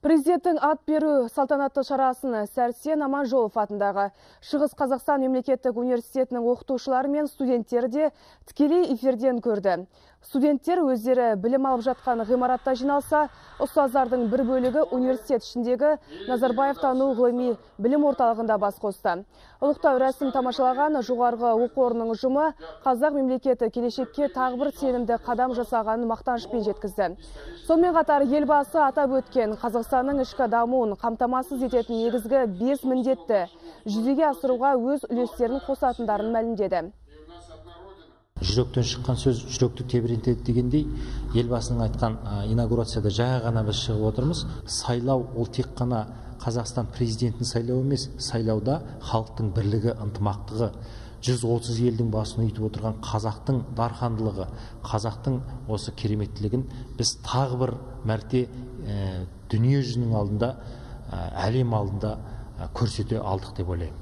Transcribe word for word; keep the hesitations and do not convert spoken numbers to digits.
Президенттің ат беру салтанатты шарасын Сәрсен Аманжолов атындағы Шығыс Қазақстан мемлекеттік университетінің оқытушылары мен студенттері де тікелей эфирден көрді. Студенттер өздері білім алып жатқан ғимаратта жиналса, ұстаздардың бір бөлігі университет ішіндегі Назарбаев-тану ғылыми білім орталығында бас қосты. Ұлықтау рәсім тамашалаған жоғарғы оқу орнының ұжымы қазақ мемлекеті келешекке тағы бір сенімді қадам жасағанын мақтанышпен жеткізді. Сонымен қатар елбасы атап өткен Қазақстанның ішкі дамуын қамтамасыз ететін негізгі бес міндетті жүзеге асыруға өз үлестерін қосатындарын мәлімдеді. Жүректен шыққан сөз жүректі тебірентеді дегендей, елбасының айтқан инаугурацияда жаңа ғана біз шығып отырмыз. Сайлау ол тек қана Қазақстан президентін сайлау емес, сайлауда халықтың бірлігі, ынтымақтығы, жүз отыз елдің басын үйітіп отырған қазақтың дархандылығы, қазақтың осы кереметтілігін біз тағы бір мәрте дүние жүзінің алдында, әлем алдында көрсете алдық деп ойлаймын.